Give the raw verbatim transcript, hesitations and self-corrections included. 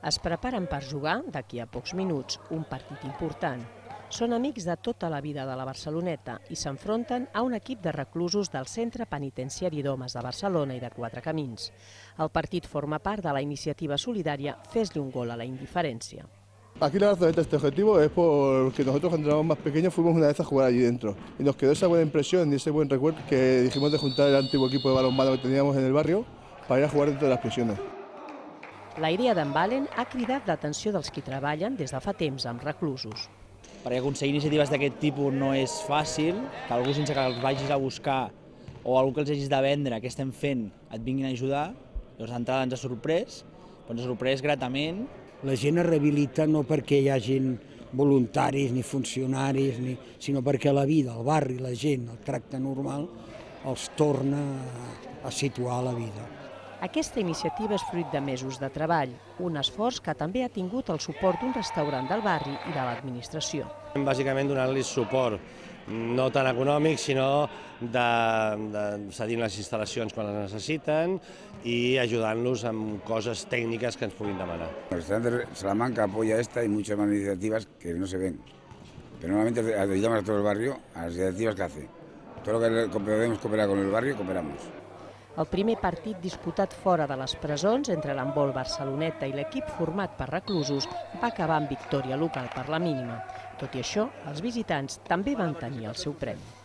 Es preparen per jugar, d'aquí a pocs minuts, un partit important. Són amics de tota la vida de la Barceloneta i s'enfronten a un equip de reclusos del Centre Penitenciari d'Homes de Barcelona i de Quatre Camins. El partit forma part de la iniciativa solidària Fes-li un gol a la indiferència. Aquí la razón de este objetivo es porque nosotros cuando éramos más pequeños fuimos una vez a jugar allí dentro y nos quedó esa buena impresión y ese buen recuerdo que dijimos de juntar el antiguo equipo de balonmano que teníamos en el barrio para ir a jugar dentro de las prisiones. La idea d'en Valen ha cridat l'atenció dels qui treballen des de fa temps amb reclusos. Perquè aconseguir iniciatives d'aquest tipus no és fàcil, que algú sense que els vagis a buscar o algú que els hagis de vendre què estem fent et vinguin a ajudar, llavors d'entrada ens ha sorprès, però ens ha sorprès gratament. La gent es rehabilita no perquè hi hagin voluntaris ni funcionaris, ni, sinó perquè la vida, el barri, la gent, el tracte normal, els torna a situar a la vida. Aquesta iniciativa és fruit de mesos de treball, un esforç que també ha tingut el suport d'un restaurant del barri i de l'administració. Bàsicament donant-los suport, no tant econòmic, sinó de, de cedint les instal·lacions quan les necessiten i ajudant-los amb coses tècniques que ens puguin demanar. El restaurante de Salamanca apoya esta y muchas más iniciativas que no se ven, pero normalmente ayudamos a todo el barrio a las iniciativas que hace. Todo lo que podemos cooperar con el barrio, cooperamos. El primer partit disputat fora de les presons entre l'handbol Barceloneta i l'equip format per reclusos va acabar amb victòria local per la mínima. Tot i això, els visitants també van tenir el seu premi.